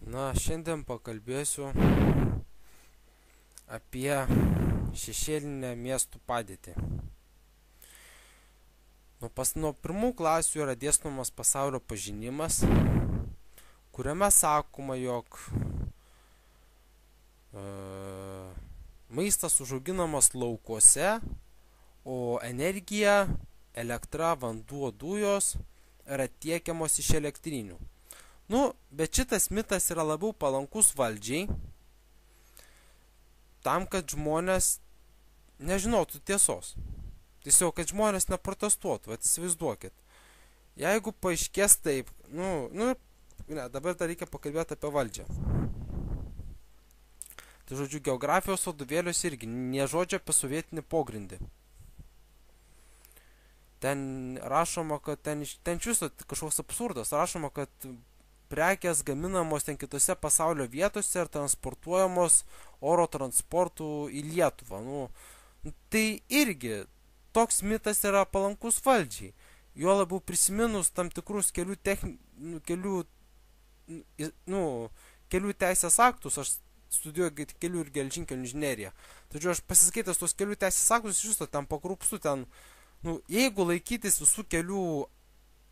Šiandien pakalbėsiu apie šešėlinę miestų padėtį. Nuo pirmų klasių yra dėstomas pasaulio pažinimas, kuriame sakoma, jog maistas užauginamas laukuose, o energija, elektra, vanduo, dujos yra tiekiamos iš elektrinių. Bet šitas mitas yra labiau palankus valdžiai, tam, kad žmonės nežinotų tiesos. Tiesiog, kad žmonės neprotestuotų, įsivaizduokit. Jeigu paaiškės taip, dabar dar reikia pakalbėti apie valdžią. Tai žodžiu, geografijos vadovėliuose irgi nė žodžio apie sovietinį pogrindį. Ten rašoma, kad ten čiūsto kažkoks absurdas, rašoma, kad prekės gaminamos ten kitose pasaulio vietose ir transportuojamos oro transportu į Lietuvą. Tai irgi toks mitas yra palankus valdžiai. Jo labiau prisiminus tam tikrus kelių teisės aktus, aš studijuoju kelių ir geležinkelių inžineriją. Tačiau aš pasiskaitęs tos kelių teisės aktus, iš viso ten pakrupstu, jeigu laikytis visų kelių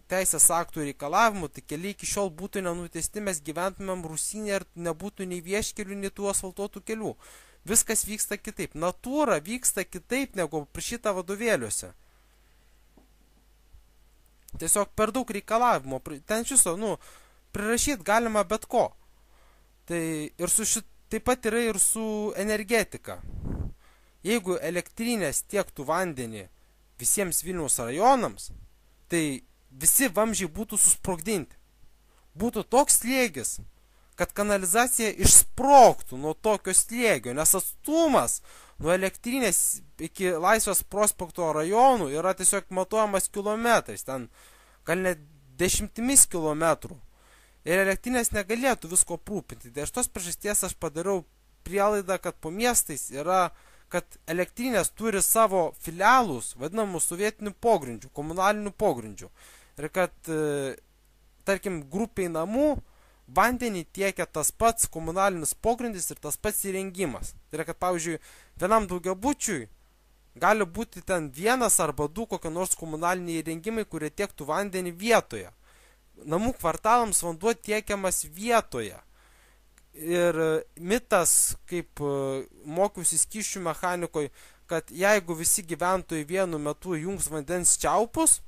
teisės aktų reikalavimų, tai keliai iki šiol būtų nenutiesti, mes gyventumėm Rusinė ir nebūtų nei vieškelių, nei tų asfaltuotų kelių. Viskas vyksta kitaip. Natūra vyksta kitaip, negu prašyta vadovėliuose. Tiesiog per daug reikalavimo. Ten šiso, prirašyti galima bet ko. Taip pat yra ir su energetika. Jeigu elektrinės tiektų vandenį visiems Vilniaus rajonams, tai visi vamzdžiai būtų susprogdinti. Būtų toks slėgis, kad kanalizacija išsprogtų nuo tokio slėgio, nes atstumas nuo elektrinės iki Laisvės prospekto rajonų yra tiesiog matuojamas kilometrais, ten gal net 10 kilometrų. Ir elektrinės negalėtų visko aprūpinti. Tai iš tos priežasties aš padariau prielaidą, kad po miestais yra, kad elektrinės turi savo filialus, vadinamus sovietinių pogrindžių, komunalinių pogrindžių. Ir kad, tarkim, grupiai namų vandenį tiekia tas pats komunalinis pogrindis ir tas pats įrengimas. Tai yra, kad, pavyzdžiui, vienam daugiabučiui gali būti ten vienas arba du kokie nors komunaliniai įrengimai, kurie tiektų vandenį vietoje. Namų kvartalams vanduo tiekiamas vietoje. Ir mitas, kaip mokiausi skysčių mechanikoje, kad jeigu visi gyventojai vienu metu jungs vandens čiaupus,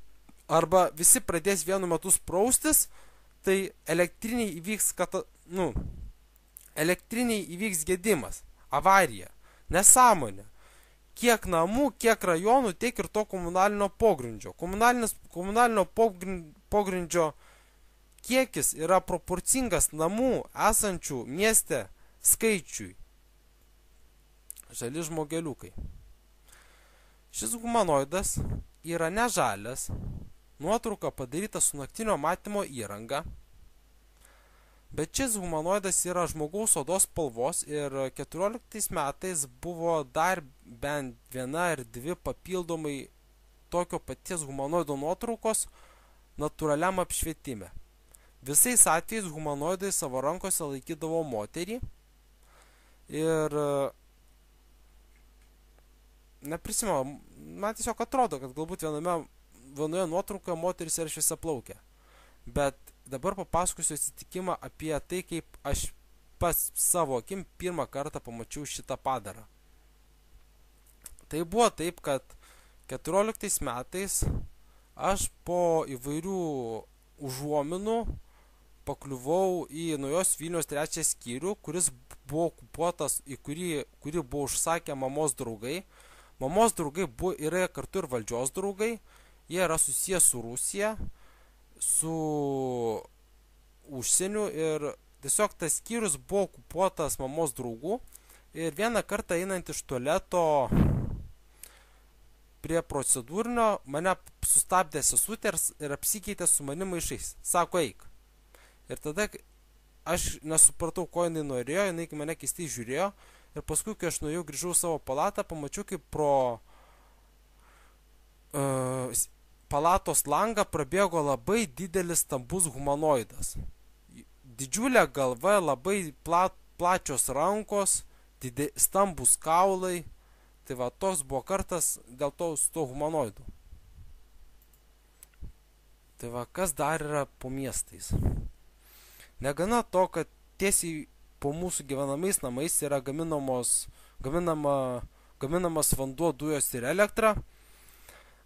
arba visi pradės vienu metu spraustis, tai elektriniai įvyks gedimas, avarija, nesąmonė. Kiek namų, kiek rajonų, tiek ir to komunalinio pogrindžio. Komunalinio pogrindžio kiekis yra proporcingas namų esančių mieste skaičiui. Žali žmogeliukai. Šis humanoidas yra nežalias, nuotrauka padaryta su naktinio matymo įranga, bet šis humanoidas yra žmogaus odos spalvos ir 14 metais buvo dar bent viena ir dvi papildomai tokio paties humanoido nuotraukos natūraliam apšvietime. Visais atvejais humanoidai savo rankose laikydavo moterį ir neprisimenu, man tiesiog atrodo, kad galbūt vienoje nuotraukoje moteris yra šviesiaplaukė. Bet dabar papasakosiu atsitikimą apie tai, kaip aš pas savo akim pirmą kartą pamačiau šitą padarą. Tai buvo taip, kad 14 metais aš po įvairių užuominų pakliuvau į Naujos Vilniaus 3 skyrių, kuris buvo okupuotas, kurį buvo užsakę mamos draugai. Mamos draugai yra kartu ir valdžios draugai. Jie yra susijęs su Rusija, su užsieniu ir tiesiog tas skyrius buvo okupuotas mamos draugų. Ir vieną kartą einant iš tualeto prie procedūrinio mane sustabdė sesutė ir apsikeitė su manim maišais. Sako, eik. Ir tada aš nesupratau, ko jinai norėjo, jinai mane keistai žiūrėjo. Ir paskui, kai aš nuėjau, grįžau savo palatą, pamačiau, kaip pro palatos langą prabėgo labai didelis stambus humanoidas. Didžiulė galva, labai plačios rankos, stambus kaulai. Tai va, toks buvo kartas dėl to su to humanoidu. Tai va, kas dar yra po miestais? Negana to, kad tiesiai po mūsų gyvenamais namais yra gaminamas vanduo, dujos ir elektra,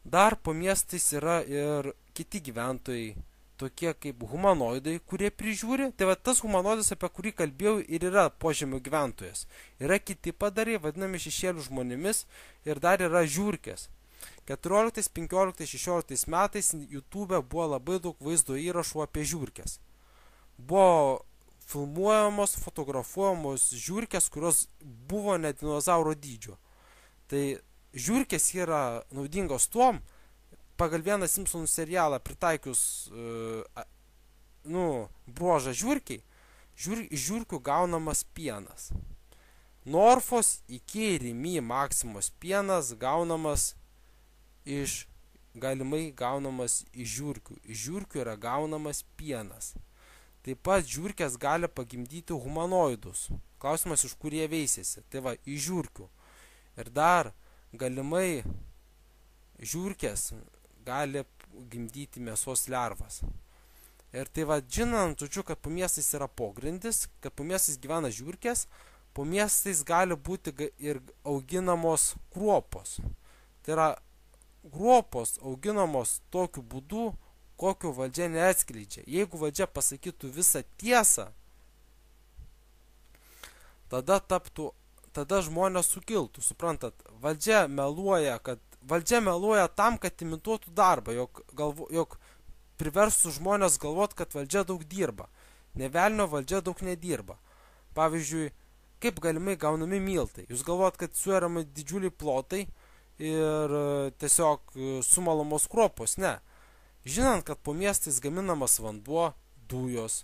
dar po miestais yra ir kiti gyventojai, tokie kaip humanoidai, kurie prižiūri. Tai va, tas humanoidas, apie kurį kalbėjau, ir yra požemio gyventojas. Yra kiti padarai, vadinami šešėlių žmonėmis, ir dar yra žiurkės. 14, 15, 16 metais YouTube buvo labai daug vaizdo įrašų apie žiurkės. Buvo filmuojamos, fotografuojamos žiurkės, kurios buvo net dinozauro dydžio. Tai žiurkės yra naudingos tuom, pagal vieną Simpsonų serialą pritaikius bruožą žiurkiai, žiurkių gaunamas pienas. Norfos iki Rimi Maksimos pienas galimai gaunamas iš žiurkių. Iš žiurkių yra gaunamas pienas. Taip pat žiurkės gali pagimdyti humanoidus. Klausimas, iš kur jie veisėsi. Tai va, iš žiurkių. Ir dar galimai žiurkės gali gimdyti mėsos lervas. Ir tai va, žinant, kad po miestais yra pogrindis, kad po miestais gyvena žiurkės, po miestais gali būti ir auginamos kruopos. Tai yra, kruopos auginamos tokiu būdu, kokio valdžia neatskleidžia. Jeigu valdžia pasakytų visą tiesą, tada žmonės sukiltų. Suprantat, valdžia meluoja tam, kad imituotų darbą, jog priverstų žmonės galvot, kad valdžia daug dirba. Nė velnio valdžia daug nedirba. Pavyzdžiui, kaip galimai gaunami miltai. Jūs galvot, kad suėrami didžiuliai plotai ir tiesiog sumalamos kruopos. Ne. Žinant, kad po miestais gaminamas vanduo, dujos,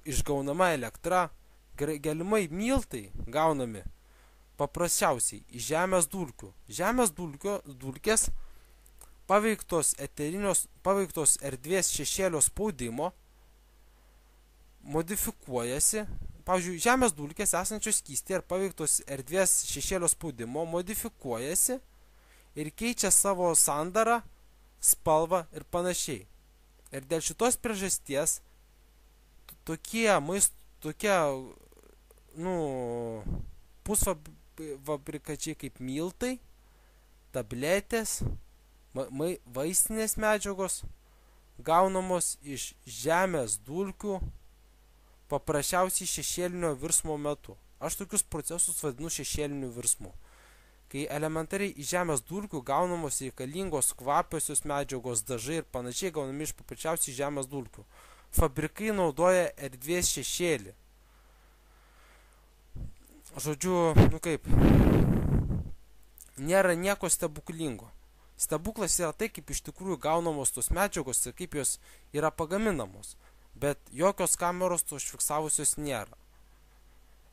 išgaunama elektra, galimai miltai gaunami paprasčiausiai iš žemės dulkių. Žemės dulkės paveiktos erdvės šešėlio spaudimo modifikuojasi. Pavyzdžiui, žemės dulkės esančios skystyje ir paveiktos erdvės šešėlio spaudimo modifikuojasi ir keičia savo sandarą, spalvą ir panašiai. Ir dėl šitos priežasties tokie pusfabrikačiai kaip miltai, tabletės, vaistinės medžiagos gaunamos iš žemės dulkių paprasčiausiai šešėlinio virsmo metu. Aš tokius procesus vadinu šešėliniu virsmu. Kai elementariai iš žemės dulkių gaunamos reikalingos kvapiosios medžiagos, dažai ir panašiai gaunami iš paprasčiausiai žemės dulkių. Fabrikai naudoja erdvės šešėlį. Žodžiu, nėra nieko stebuklingo. Stebuklas yra tai, kaip iš tikrųjų gaunamos tos medžiagos ir kaip jos yra pagaminamos. Bet jokios kameros to užfiksavusios nėra.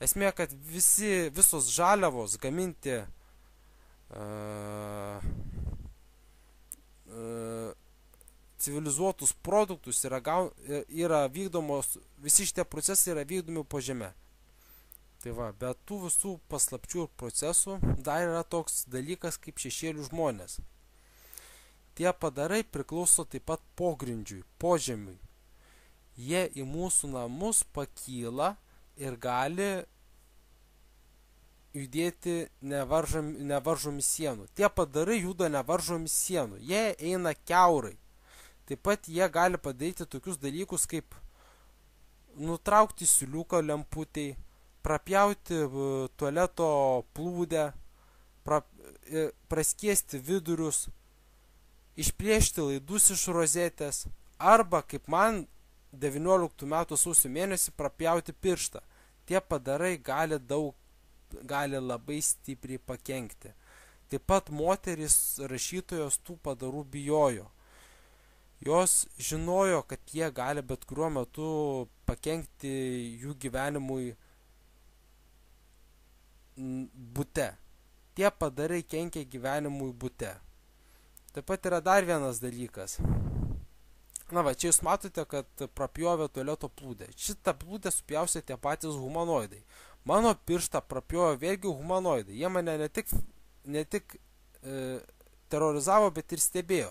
Esmė, kad visos žaliavos gaminti civilizuotus produktus yra vykdomos, visi šitie procesai yra vykdomi po žeme. Tai va, bet tų visų paslapčių ir procesų dar yra toks dalykas kaip šešėlių žmonės. Tie padarai priklauso taip pat pogrindžiui, požemiui. Jie į mūsų namus pakyla ir gali judėti nevaržomi sienų. Tie padarai juda nevaržomi sienų. Jie eina kiaurai. Taip pat jie gali padaryti tokius dalykus kaip nutraukti siūliuką lemputei, prapjauti tualeto plūdę, praskiesti vidurius, išplėšti laidus iš rozetės, arba, kaip man 19 metų sausio mėnesį, prapjauti pirštą. Tie padarai gali labai stipriai pakenkti. Taip pat moterys rašytojos tų padarų bijojo. Jos žinojo, kad jie gali bet kuriuo metu pakenkti jų gyvenimui bute. Tie padarai kenkia gyvenimui bute. Taip pat yra dar vienas dalykas. Na va, čia jūs matote, kad prapjovė tualeto plūdę. Šitą plūdę supjausė tie patys humanoidai. Mano pirštą prapjovė vėlgi humanoidai. Jie mane ne tik terorizavo, bet ir stebėjo.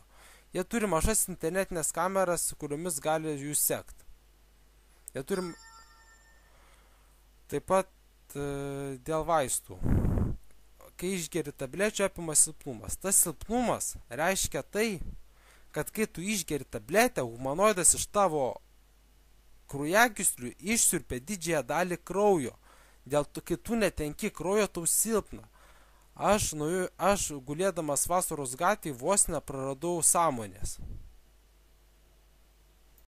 Jie turi mažas internetinės kameras, kuriomis gali jūs sekti. Jie turi taip pat dėl vaistų. Kai išgeri tablečių, apima silpnumas. Tas silpnumas reiškia tai, kad kai tu išgeri tabletę, humanoidas iš tavo kraujagyslių išsiurbia didžiąją dalį kraujo. Dėl to, kai tu netenki kraujo, tau silpna. Aš gulėdamas vasaros gatvėje vos nepraradau sąmonės.